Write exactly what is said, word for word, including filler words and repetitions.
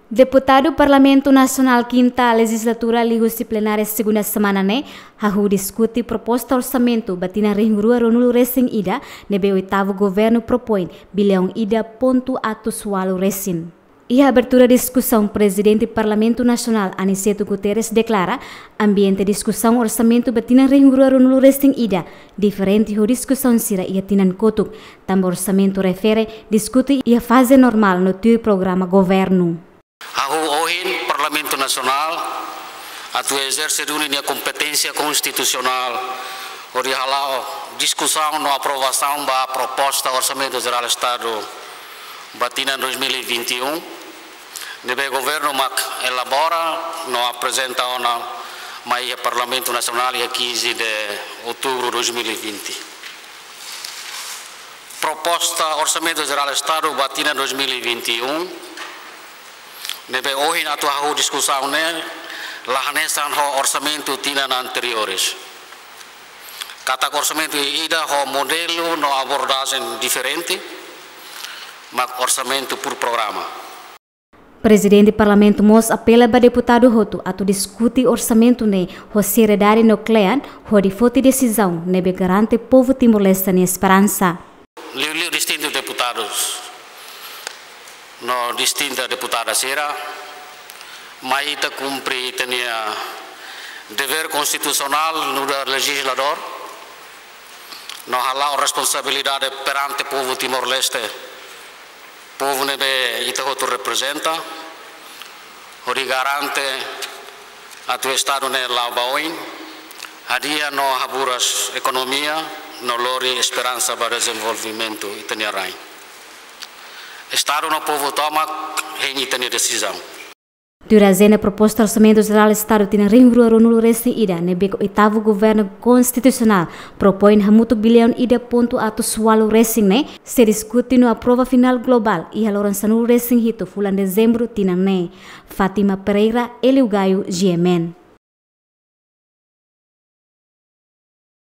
Deputadu Parlamentu Nasionál Kinta Lejizlatura liuhusi plenária segunda semana ne'e hahú diskute proposta orsamentu ba tinan rihun rua ruanulu resin ida ne'ebé oitavu governu propoin biliaun ida pontu atus ualu resin. Iha abertura diskusaun, Prezidente Parlamentu Nasionál Aniceto Guterres deklara, ambiente diskusaun orsamentu ba tinan rihun rua ruanulu resin ida diferente ho diskusaun sira iha tinan kotuk, tanba orsamentu refere diskute iha faze normál no tuir programa governu. Hahú ohin Parlamentu Nasionál atu ezerse duni nia kompeténsia konstitusionál hodi hala'o diskusaun no aprovasaun ba proposta Orsamentu Jerál Estadu ba tinan dois mil e vinte e um, ne'ebé governu mak elabora no aprezenta ona mai iha Parlamentu Nasionál iha quinze de outubro dois mil e vinte. Proposta Orsamentu Jerál Estadu ba tinan dois mil e vinte e um, ne'ebé ohin atu hahú diskusaun ne'e, la hanesan ho orsamentu tinan anteriores. Katak orsamentu ida ho modelu no abordajen diferente, mak orsamentu por programa. Prezidente Parlamentu mós apela ba deputadu hotu atu diskute orsamentu ne'e ho seriedade no kle'an, hodi foti desizaun ne'ebé garante povu Timor-Leste nia esperansa. Liuliu distintu deputadus no distinta deputada sira, mai ita kumpre ita-nia devér konstitusionál nu'udar lejizladór, no hala'o responsabilidade perante povu Timor-Leste, povu ne'ebé ita hotu reprezenta, hodi garante atu Estadu ne'e la'o ba oin, hadi'a no haburas ekonomia, no lori esperansa ba dezenvolvimentu ita-nia rain. Estadu no povu tomak hein ita-nia desizaun. Tuir ajenda, proposta Orsamentu Jerál Estadu tinan rihun rua ruanulu resin ida ne'ebé oitavu governu konstitusionál propoin hamutuk biliaun ida pontu atus ualu resin ne'e sei diskute no aprova finál globál iha loron sanulu resin hitu fulan Dezembru tinan ne'e. Fátima Pereira, Hélio Gaio, G M N.